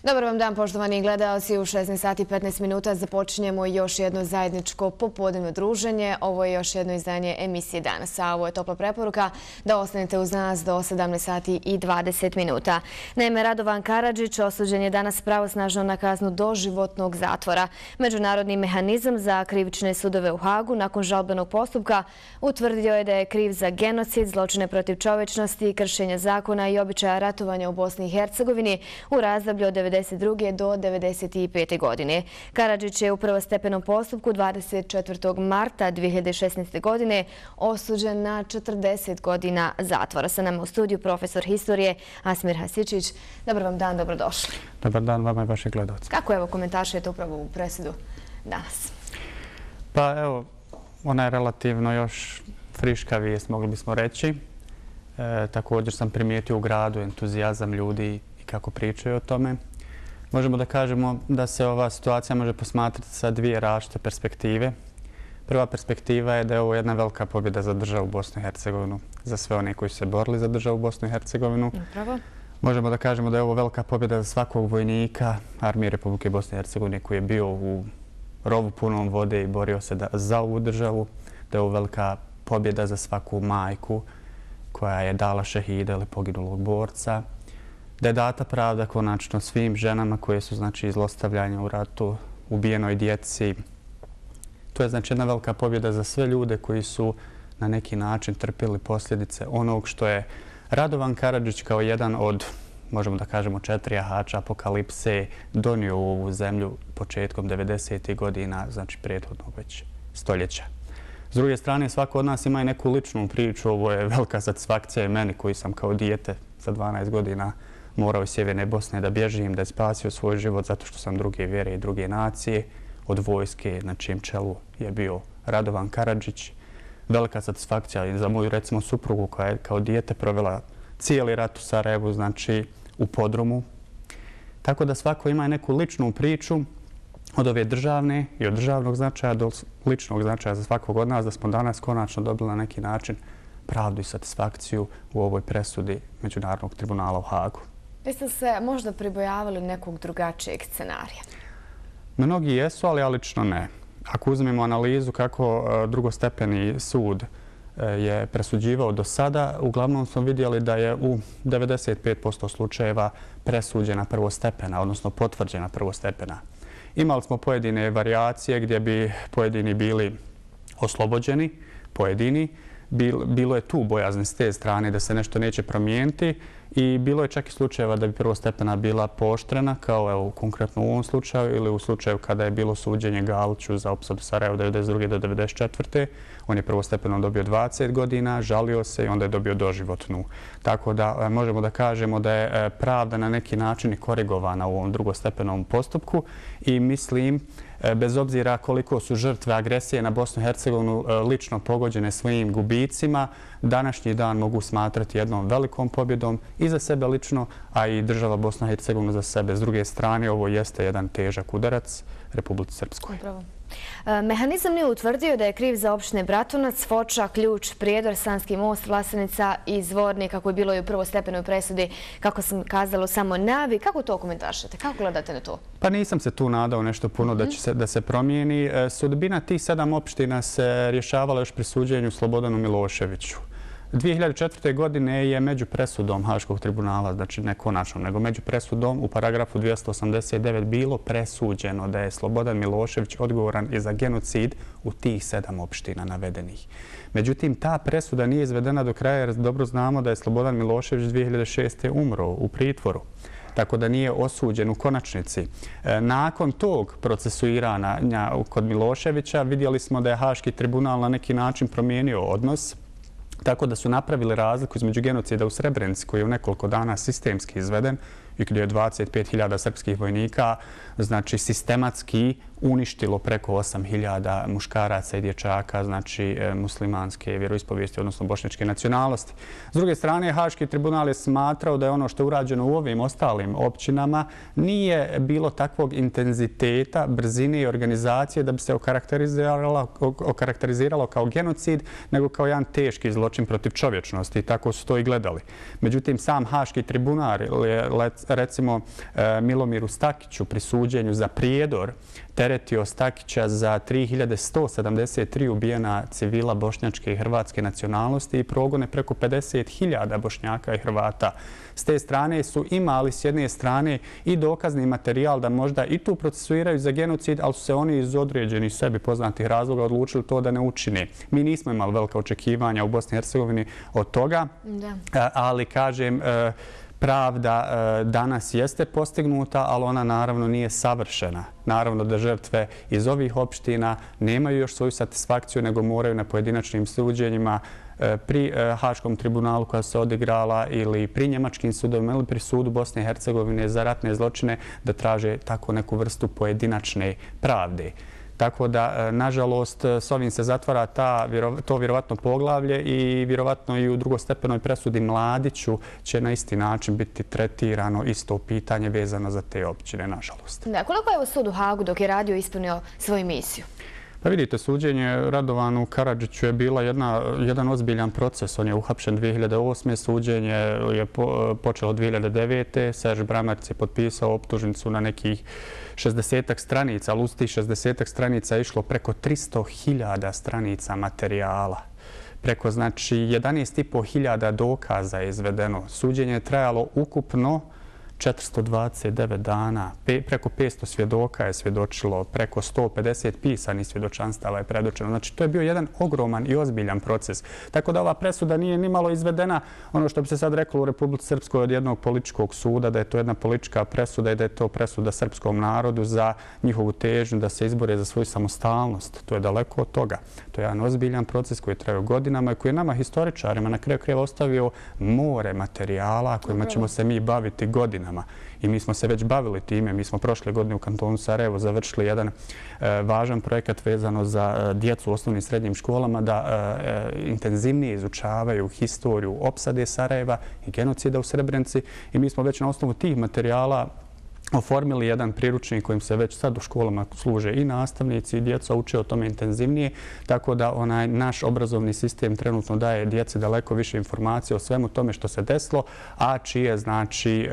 Dobar vam dan, poštovani gledalci. U 16 sati i 15 minuta započinjemo još jedno zajedničko popodnevno druženje. Ovo je još jedno izdanje emisije Danas, a ovo je topla preporuka da ostanete uz nas do 17 sati i 20 minuta. Naime, Radovan Karadžić osuđen je danas pravosnažno na kaznu doživotnog zatvora. Međunarodni mehanizam za krivične sudove u Hagu nakon žalbenog postupka utvrdio je da je kriv za genocid, zločine protiv čovječnosti, kršenja zakona i običaja ratovanja u Bosni i Hercegovini u razdoblju od 1992. do 1995. godine. Karadžić je u prvostepenom postupku 24. marta 2016. godine osuđen na 40 godina zatvora. Sa nama u studiju profesor historije Asmir Hasičić. Dobar vam dan, dobrodošli. Dobar dan vama i vaših gledalca. Kako evo komentaršujete upravo u presudu danas? Pa evo, ona je relativno još friška vijest, mogli bismo reći. Također sam primijetio u gradu entuzijazam ljudi i kako pričaju o tome. Možemo da kažemo da se ova situacija može posmatrati sa dvije različite perspektive. Prva perspektiva je da je ovo jedna velika pobjeda za državu Bosnu i Hercegovinu, za sve one koji su se borili za državu Bosnu i Hercegovinu. Upravo. Možemo da kažemo da je ovo velika pobjeda za svakog vojnika Armije Republike Bosne i Hercegovine koji je bio u rovu punom vode i borio se za ovu državu. Da je ovo velika pobjeda za svaku majku koja je dala šehida ili poginulog borca. Da je data pravda konačno svim ženama koje su zlostavljane u ratu, ubijenoj djeci. To je jedna velika pobjeda za sve ljude koji su na neki način trpili posljedice onog što je Radovan Karadžić kao jedan od, možemo da kažemo, 4 jahača apokalipse donio u ovu zemlju početkom 90. godina, znači prethodnog već stoljeća. S druge strane, svako od nas ima i neku ličnu priču. Ovo je velika satisfakcija i meni koji sam kao dijete sa 12 godina morao iz Sjeverne Bosne da bježim, da je spasio svoj život zato što sam druge vjere i druge nacije od vojske na čijem čelu je bio Radovan Karadžić. Velika satisfakcija i za moju, recimo, suprugu koja je kao dijete provela cijeli rat u Sarajevu, znači u podrumu. Tako da svako ima neku ličnu priču od ove državne i od državnog značaja do ličnog značaja za svakog od nas, da smo danas konačno dobili na neki način pravdu i satisfakciju u ovoj presudi Međunarodnog tribunala u Hagu. Vi ste se možda pribojavali nekog drugačijeg scenarija? Mnogi jesu, ali ja lično ne. Ako uzmemo analizu kako drugostepeni sud je presuđivao do sada, uglavnom smo vidjeli da je u 95% slučajeva presuđena prvostepena, odnosno potvrđena prvostepena. Imali smo pojedine varijacije gdje bi pojedini bili oslobođeni, pojedini. Bilo je tu bojazni s te strane da se nešto neće promijeniti i bilo je čak i slučajeva da bi prvostepena bila pooštrena, kao evo konkretno u ovom slučaju ili u slučaju kada je bilo suđenje Galiću za opsadu Sarajeva 1992. do 1994. On je prvostepeno dobio 20 godina, žalio se i onda je dobio doživotnu. Tako da možemo da kažemo da je pravda na neki način i korigovana u ovom drugostepenom postupku i mislim, bez obzira koliko su žrtve agresije na Bosnu i Hercegovinu lično pogođene svojim gubicima, današnji dan mogu smatrati jednom velikom pobjedom i za sebe lično, a i država Bosna i Hercegovina za sebe. S druge strane, ovo jeste jedan težak udarac Republici Srpskoj. Upravo. Mehanizam nije utvrdio da je kriv za opštine Bratunac, Foča, Ključ, Prijedor, Sanski most, Vlasenica i Zvornik, kako je bilo i u prvostepenoj presudi, kako sam kazalo, samo najavi. Kako to komentaršete? Kako gledate na to? Pa nisam se tu nadao nešto puno da se promijeni. Sudbina tih 7 opština se rješavala još pri suđenju Slobodanu Miloševiću. 2004. godine je među presudom Haškog tribunala, znači ne konačno, nego među presudom u paragrafu 289 bilo presuđeno da je Slobodan Milošević odgovoran i za genocid u tih 7 opština navedenih. Međutim, ta presuda nije izvedena do kraja jer dobro znamo da je Slobodan Milošević 2006. umro u pritvoru. Tako da nije osuđen u konačnici. Nakon tog procesuiranja kod Miloševića vidjeli smo da je Haški tribunal na neki način promijenio odnos, tako da su napravili razliku između genocida u Srebrenici, koji je u nekoliko dana sistemski izveden i gdje je 25.000 srpskih vojnika sistematski uništilo preko 8.000 muškaraca i dječaka, muslimanske vjeroispovijesti, odnosno bošnjačke nacionalnosti. S druge strane, Haški tribunal je smatrao da je ono što je urađeno u ovim ostalim općinama nije bilo takvog intenziteta, brzine i organizacije da bi se okarakteriziralo kao genocid, nego kao jedan teški zločin protiv čovječnosti. I tako su to i gledali. Međutim, sam Haški tribunal je recimo Milomiru Stakiću pri suđenju za prijedor teretio Stakića za 3173 ubijena civila bošnjačke i hrvatske nacionalnosti i progone preko 50.000 Bošnjaka i Hrvata. S te strane su imali s jedne strane i dokazni materijal da možda i tu procesuiraju za genocid, ali su se oni iz određenih sebi poznatih razloga odlučili to da ne učine. Mi nismo imali velika očekivanja u Bosni i Hercegovini od toga, ali kažem, pravda danas jeste postignuta, ali ona naravno nije savršena. Naravno da žrtve iz ovih opština nemaju još svoju satisfakciju, nego moraju na pojedinačnim suđenjima pri Haškom tribunalu koja se odigrala ili pri njemačkim sudovima ili pri sudu Bosne i Hercegovine za ratne zločine da traže tako neku vrstu pojedinačne pravde. Tako da, nažalost, s ovim se zatvara to vjerovatno poglavlje i vjerovatno i u drugostepenoj presudi Mladiću će na isti način biti tretirano isto pitanje vezano za te općine, nažalost. Koliko je sud u Hagu dok je radio ispunio svoju misiju? Pa vidite, suđenje Radovanu Karadžiću je bila jedan ozbiljan proces. On je uhapšen 2008. Suđenje je počelo 2009. Serž Bramarac je potpisao optužnicu na nekih 60-ak stranica, ali uz tih 60-ak stranica je išlo preko 300.000 stranica materijala. Preko, znači, 11.500 dokaza je izvedeno. Suđenje je trajalo ukupno 429 dana, preko 500 svjedoka je svjedočilo, preko 150 pisanih svjedočanstava je predočeno. Znači, to je bio jedan ogroman i ozbiljan proces. Tako da ova presuda nije nimalo izvedena, ono što bi se sad reklo u Republici Srpskoj od jednog političkog suda, da je to jedna politička presuda i da je to presuda srpskom narodu za njihovu težnju da se izbore za svoju samostalnost. To je daleko od toga. To je jedan ozbiljan proces koji je trajao godinama i koji je nama historičarima na kraju krajeva ostavio more materijala kojima ćemo se mi baviti godinama. I mi smo se već bavili time. Mi smo prošle godine u kantonu Sarajevo završili jedan važan projekat vezano za djecu u osnovnim i srednjim školama da intenzivnije izučavaju historiju opsade Sarajeva i genocida u Srebrenici. I mi smo već na osnovu tih materijala oformili jedan priručnik kojim se već sad u školama služe i nastavnici i djeca uče o tome intenzivnije, tako da naš obrazovni sistem trenutno daje djeci daleko više informacije o svemu tome što se desilo, a čiji je, znači,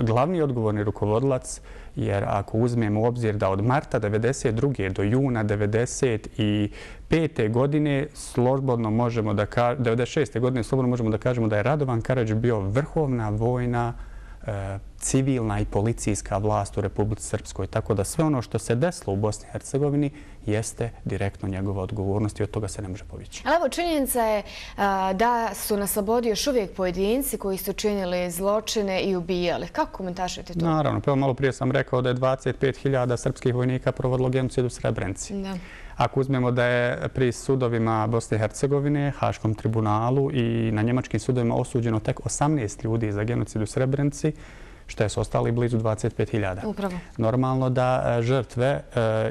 glavni odgovorni rukovodilac, jer ako uzmemo u obzir da od marta 1992. do juna 1995. godine slobodno možemo da 96. godine slobodno možemo da kažemo da je Radovan Karadžić bio vrhovna vojna civilna i policijska vlast u Republici Srpskoj. Tako da sve ono što se desilo u Bosni i Hercegovini jeste direktno njegova odgovornost i od toga se ne može povići. Ali evo, činjenica je da su na slobodi još uvijek pojedinci koji su činili zločine i ubijali. Kako komentarišete to? Naravno, pa malo prije sam rekao da je 25.000 srpskih vojnika provodilo genocid u Srebrenici. Ako uzmemo da je pri sudovima Bosne i Hercegovine, Haškom tribunalu i na njemačkim sudovima osuđeno tek 18 ljudi za genocid u Srebrenici, što je su ostali blizu 25.000. Upravo. Normalno da žrtve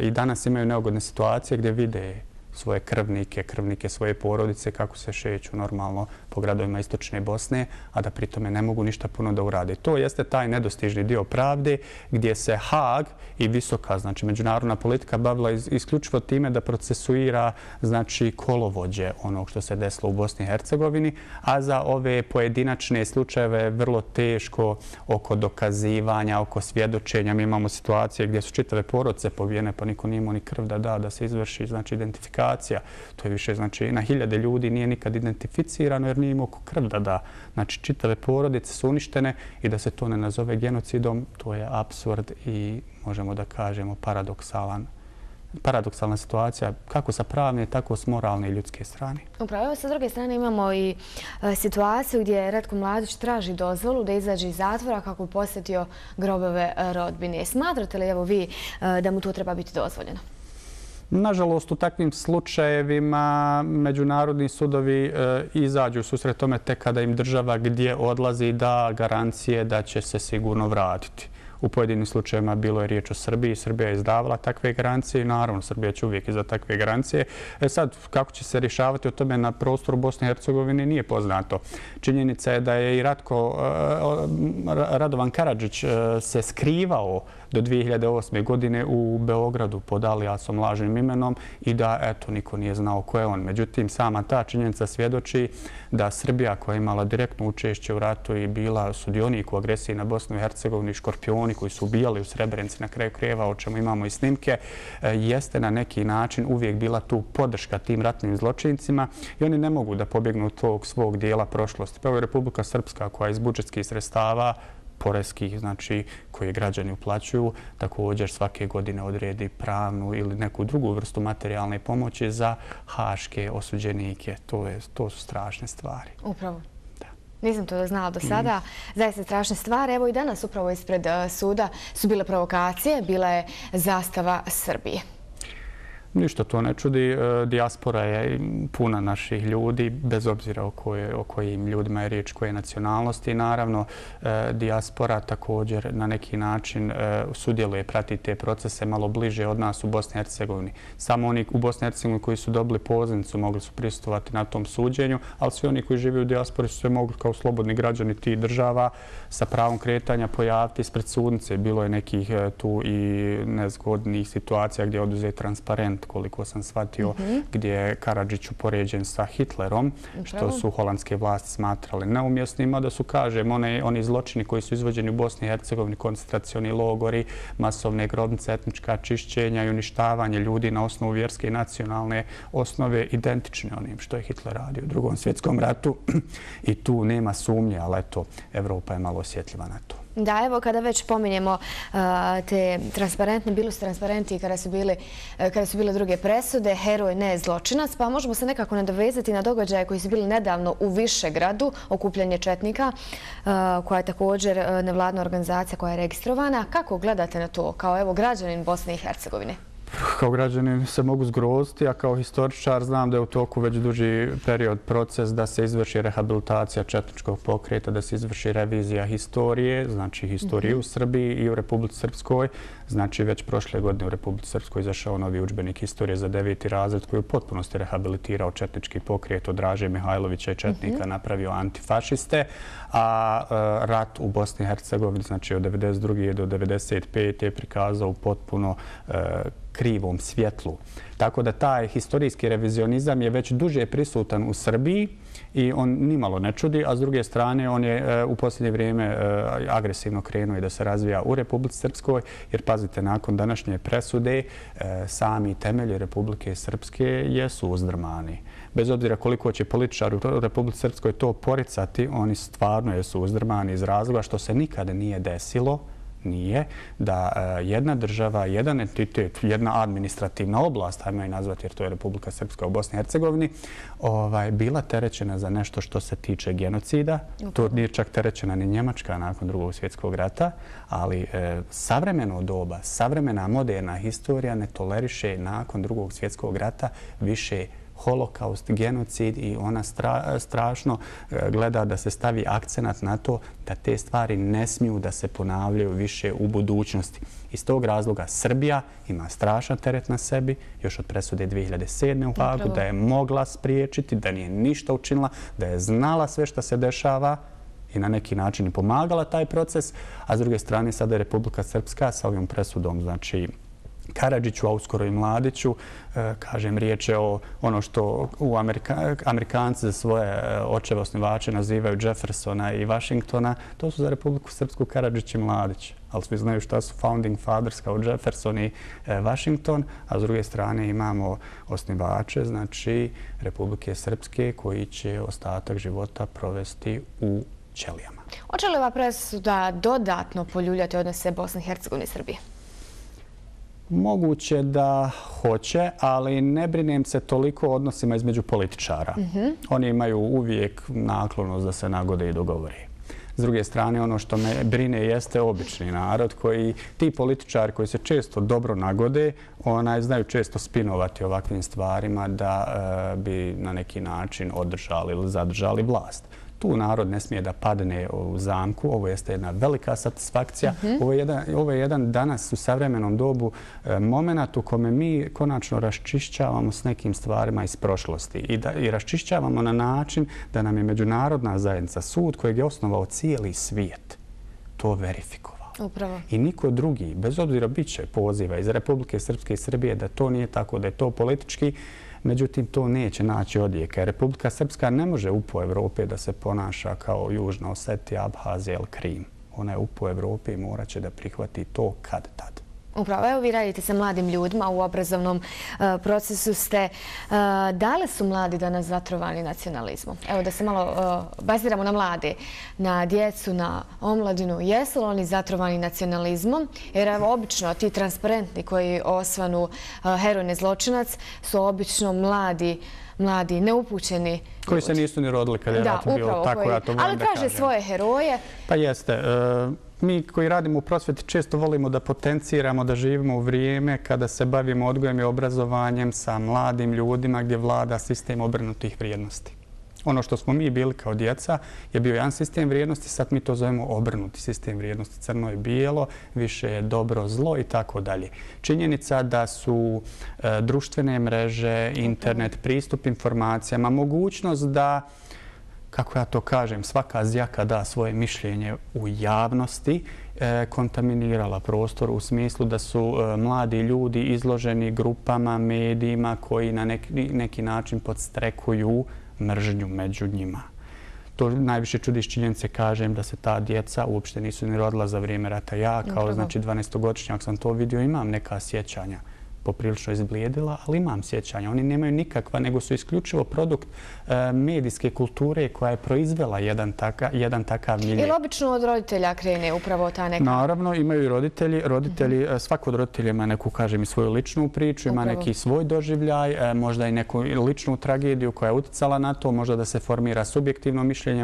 i danas imaju neugodne situacije gdje vide svoje krvnike svoje porodice kako se šeću normalno po gradovima istočne Bosne, a da pritome ne mogu ništa puno da urade. To jeste taj nedostižni dio pravde gdje se Haag i visoka, znači međunarodna politika bavila isključivo time da procesuira, znači, kolovođe onog što se desilo u Bosni i Hercegovini, a za ove pojedinačne slučajeve vrlo teško oko dokazivanja, oko svjedočenja. Mi imamo situacije gdje su čitave porodice pobijene, pa niko nije imao ni krv da se izvrši, znači, identifikacija. To je više, znači, na hiljade ljudi nije nikad identificirano jer nije imao krv da da. Znači, čitave porodice su uništene i da se to ne nazove genocidom, to je apsurd i možemo da kažemo paradoksalna situacija kako sa pravne, tako s moralne i ljudske strane. Upravo, sa druge strane imamo i situaciju gdje Ratko Mladić traži dozvolu da izađe iz zatvora kako bi posjetio grobove rodbine. Smatrate li, evo vi, da mu to treba biti dozvoljeno? Nažalost, u takvim slučajevima međunarodni sudovi izađu u susret tome tek kada im država gdje odlazi da garancije da će se sigurno vratiti. U pojedinim slučajevima bilo je riječ o Srbiji. Srbija je izdavala takve garancije i naravno Srbija će uvijek iza takve garancije. Sad, kako će se rješavati o tome na prostoru Bosne i Hercegovine nije poznato. Činjenica je da je i Radovan Karadžić se skrivao do 2008. godine u Beogradu pod alijasom, lažnim imenom i da, eto, niko nije znao ko je on. Međutim, sama ta činjenica svjedoči da Srbija, koja je imala direktno učešće u ratu i bila sudionik u agresiji na Bosnu i Hercegovini, škorpioni koji su ubijali u Srebrenici na kraju krajeva, o čemu imamo i snimke, jeste na neki način uvijek bila tu podrška tim ratnim zločincima i oni ne mogu da pobjegnu od tog svog dijela prošlosti. Pa evo je Republika Srpska koja iz budžetskih sredstava poreskih, znači koje građani uplaćuju, također svake godine odredi pravnu ili neku drugu vrstu materijalne pomoći za haške osuđenike. To su strašne stvari. Upravo. Nisam to znala do sada. Zaista strašne stvari. Evo i danas upravo ispred suda su bile provokacije, bila je zastava Srbije. Ništa to ne čudi. Dijaspora je puna naših ljudi, bez obzira o kojim ljudima je riječ, koje nacionalnosti. Naravno, dijaspora također na neki način sudjeluje, prati te procese malo bliže od nas u Bosni i Hercegovini. Samo oni u Bosni i Hercegovini koji su dobili pozivnicu mogli su prisustvovati na tom suđenju, ali svi oni koji žive u dijaspori su se mogli kao slobodni građani tih država sa pravom kretanja pojaviti ispred sudnice. Bilo je nekih tu i nezgodnih situacija gdje je oduzet transparent, koliko sam shvatio, gdje je Karadžić upoređen sa Hitlerom, što su holandske vlasti smatrali neumjesnima, da su, kažem, oni zločini koji su izvođeni u Bosni i Hercegovini, koncentracioni logori, masovne grobnice, etnička čišćenja i uništavanje ljudi na osnovu vjerske i nacionalne osnove identične onim što je Hitler radio u Drugom svjetskom ratu. I tu nema sumnje, ali eto, Evropa je malo osjetljiva na to. Da, evo, kada već pominjemo te transparentne, bili su transparenti i kada su bile druge presude, heroj ne zločinac, pa možemo se nekako nadovezati na događaje koji su bili nedavno u Višegradu, okupljanje četnika, koja je također nevladna organizacija koja je registrovana. Kako gledate na to kao, evo, građanin Bosne i Hercegovine? Kao građanin se mogu zgroziti, a kao historičar znam da je u toku već duži period proces da se izvrši rehabilitacija četničkog pokreta, da se izvrši revizija historije, znači historije u Srbiji i u Republici Srpskoj. Znači već prošle godine u Republici Srpskoj izašao novi udžbenik historije za 9. razred koji je u potpunosti rehabilitirao četnički pokret od Draže Mihajlovića i četnika, napravio antifašiste, a rat u Bosni i Hercegovini, znači od 1992. do 1995. je prikazao u potpuno krivom svjetlu. Tako da taj historijski revizionizam je već duže prisutan u Srbiji i on nimalo ne čudi, a s druge strane on je u posljednje vrijeme agresivno krenuo i da se razvija u Republici Srpskoj, jer pazite, nakon današnje presude sami temelji Republike Srpske jesu uzdrmani. Bez obzira koliko će političari u Republici Srpskoj to poricati, oni stvarno jesu uzdrmani iz razloga što se nikada nije desilo, da jedna država, jedan entitet, jedna administrativna oblast, ajmo je nazvati jer to je Republika Srpska u Bosni i Hercegovini, bila terećena za nešto što se tiče genocida. To nije čak terećena ni Njemačka nakon Drugog svjetskog rata, ali savremeno doba, savremena moderna historija ne toleriše nakon Drugog svjetskog rata više holokaust, genocid i ona strašno gleda da se stavi akcenat na to da te stvari ne smiju da se ponavljaju više u budućnosti. Iz tog razloga Srbija ima strašan teret na sebi, još od presude 2007. u Hagu, da je mogla spriječiti, da nije ništa učinila, da je znala sve što se dešava i na neki način i pomagala taj proces, a s druge strane sada je Republika Srpska sa ovim presudom, znači Karadžiću, a uskoro i Mladiću, kažem, riječ je o ono što Amerikanci za svoje očeve osnivače nazivaju Jeffersona i Washingtona, to su za Republiku Srpsku Karadžić i Mladić. Ali svi znaju šta su founding fathers kao Jefferson i Washington, a s druge strane imamo osnivače, znači Republike Srpske, koji će ostatak života provesti u ćelijama. Hoće li ova presuda dodatno poljuljati odnose Bosne i Hercegovine i Srbije? Moguće da hoće, ali ne brinem se toliko o odnosima između političara. Oni imaju uvijek naklonost da se nagode i dogovore. S druge strane, ono što me brine jeste obični narod koji, ti političari koji se često dobro nagode, znaju često spinovati ovakvim stvarima da bi na neki način održali ili zadržali vlast. Tu narod ne smije da padne u zamku. Ovo jeste jedna velika satisfakcija. Ovo je jedan danas u savremenom dobu moment u kome mi konačno raščišćavamo s nekim stvarima iz prošlosti i raščišćavamo na način da nam je međunarodna zajednica, sud kojeg je osnovao cijeli svijet, to verifikovao. Upravo. I niko drugi, bez obzira bit će poziva iz Republike Srpske i Srbije da to nije tako, da je to politički, međutim to neće naći odjeka. Republika Srpska ne može upo Evrope da se ponaša kao Južna Osetija, Abhazija ili Krim. Ona je upo Evrope i morat će da prihvati to kad tad. Upravo, evo vi radite sa mladim ljudima u obrazovnom procesu ste. Da li su mladi danas zatrovani nacionalizmom? Evo da se malo baziramo na mlade, na djecu, na omladinu. Jesu li oni zatrovani nacionalizmom? Jer evo obično ti transparentni koji osvanu heroj ne zločinac su obično mladi, neupućeni. Koji se nisu ni rodili kad je rat bio, tako ja to volim da kažem. Ali traže svoje heroje. Pa jeste. Mi koji radimo u prosvjeti često volimo da potenciramo, da živimo u vrijeme kada se bavimo odgojem i obrazovanjem sa mladim ljudima gdje vlada sistem obrnutih vrijednosti. Ono što smo mi bili kao djeca je bio jedan sistem vrijednosti, sad mi to zovemo obrnuti sistem vrijednosti. Crno i bijelo, više je dobro, zlo i tako dalje. Činjenica da su društvene mreže, internet, pristup informacijama, mogućnost da, kako ja to kažem, svaka zjaka da svoje mišljenje u javnosti, kontaminirala prostor u smislu da su mladi ljudi izloženi grupama, medijima koji na neki način podstrekuju mržnju među njima. To najviše čudi iz činjenice, kažem, da se ta djeca uopšte nisu ni rodila za vrijeme rata. Ja kao 12-godišnjak sam to vidio, imam neka sjećanja. Poprilično izblijedila, ali imam sjećanja. Oni nemaju nikakva, nego su isključivo produkt medijske kulture koja je proizvela jedan takav milje. Ili obično od roditelja krene upravo ta neka? Naravno, imaju i roditelji. Svako od roditelja ima neku, kažem, i svoju ličnu priču, ima neki svoj doživljaj, možda i neku ličnu tragediju koja je uticala na to, možda da se formira subjektivno mišljenje,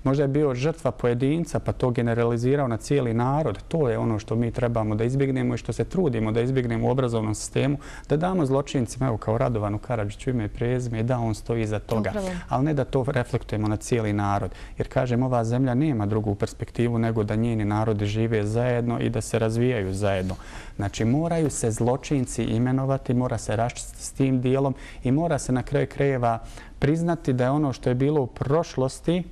možda je bio žrtva pojedinca pa to generalizirao na cijeli narod. To je ono što mi trebamo da izbjegnemo i što se trudimo da izbjegnemo u obrazovnom sistemu, da damo zločincima, evo kao Radovanu Karadžiću ime i prezime, i da on stoji iza toga. Ali ne da to reflektujemo na cijeli narod. Jer, kažem, ova zemlja nema drugu perspektivu nego da njeni narodi žive zajedno i da se razvijaju zajedno. Znači, moraju se zločinci imenovati, mora se raščistiti s tim dijelom i mora se na kraju krajeva priznati da je ono što je bilo u prošlosti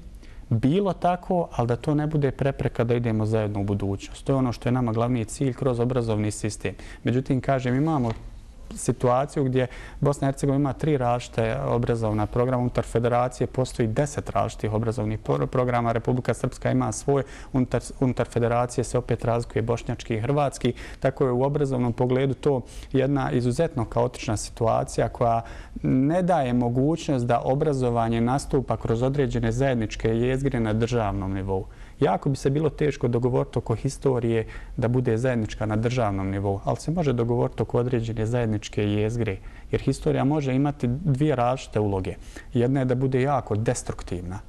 bilo tako, ali da to ne bude prepreka da idemo zajedno u budućnost. To je ono što je nama glavni cilj kroz obrazovni sistem. Međutim, kažem, imamo situaciju gdje Bosna i Hercegovina ima 3 različite obrazovna programa. Unutar federacije postoji 10 različitih obrazovnih programa. Republika Srpska ima svoj. Unutar federacije se opet razlikuje bošnjački i hrvatski. Tako je u obrazovnom pogledu to jedna izuzetno kaotična situacija koja ne daje mogućnost da obrazovanje nastupa kroz određene zajedničke jezgre na državnom nivou. Jako bi se bilo teško dogovoriti oko historije da bude zajednička na državnom nivou, ali se može dogovoriti oko određene zajedničke jezgre, jer historija može imati 2 različite uloge. Jedna je da bude jako destruktivna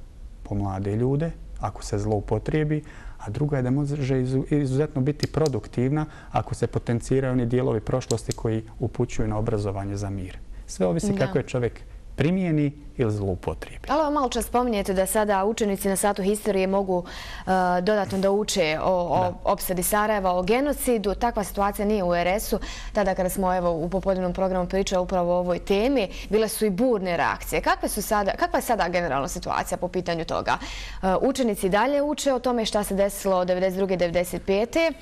po mlade ljude, ako se zloupotrijebi, a druga je da može izuzetno biti produktivna ako se potenciraju oni dijelovi prošlosti koji upućuju na obrazovanje za mir. Sve ovisi kako je čovjek primijeni ili zloupotrijebi. Ali malo čas spominjete da sada učenici na satu historije mogu dodatno da uče o opsadi Sarajeva, o genocidu. Takva situacija nije u RS-u. Tada kada smo u popodnevnom programu pričali upravo o ovoj temi, bile su i burne reakcije. Kakva je sada generalna situacija po pitanju toga? Učenici dalje uče o tome šta se desilo od 1992.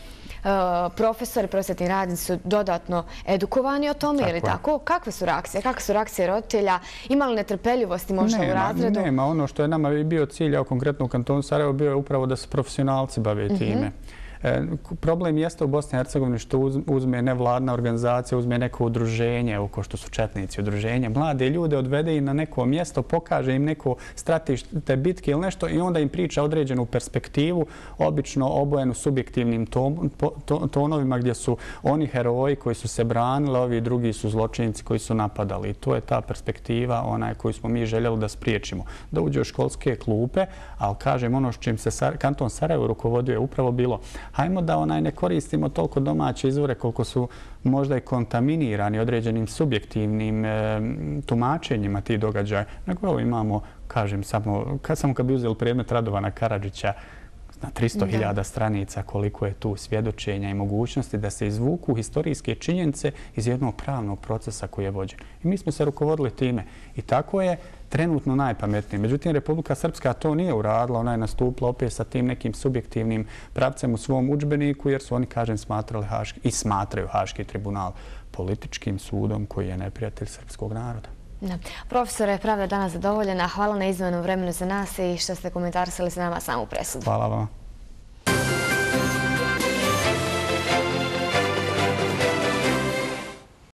1995. Profesori, prosvjetni radnici su dodatno edukovani o tome, ili tako? Kakve su reakcije? Kakve su reakcije roditelja? Ima li netrpeljivosti možda u razredu? Nema. Ono što je nama bio cilj, konkretno u kantonu Sarajevo, bio je upravo da se profesionalci bave time. Problem jeste u Bosni i Hercegovini što uzme nevladna organizacija, uzme neko udruženje, ko što su četnici udruženja, mlade ljude odvede im na neko mjesto, pokaže im neko stratište bitke ili nešto i onda im priča određenu perspektivu, obično obojenu subjektivnim tonovima gdje su oni heroji koji su se branili, ovi drugi su zločinci koji su napadali. I to je ta perspektiva koju smo mi željeli da spriječimo. Da uđe u školske klupe, ali kažem ono s čim se kanton Sarajevo rukovodio je upravo bilo hajmo da ne koristimo toliko domaće izvore koliko su možda i kontaminirani određenim subjektivnim tumačenjima tih događaja. Nego evo imamo, kažem, samo kad bi uzeli predmet Radovana Karadžića, na 300.000 stranica koliko je tu svjedočenja i mogućnosti da se izvuku historijske činjenice iz jednog pravnog procesa koji je vođen. I mi smo se rukovodili time. I tako je trenutno najpametnije. Međutim, Republika Srpska to nije uradila. Ona je nastupila opet sa tim nekim subjektivnim pravcem u svom udžbeniku jer su oni, kažem, smatrali i smatraju Haški tribunal političkim sudom koji je neprijatelj srpskog naroda. Profesore, pravda je danas zadovoljena. Hvala na izdvojenom vremenu za nas i što ste komentarisali sa nama samu presudu. Hvala vam.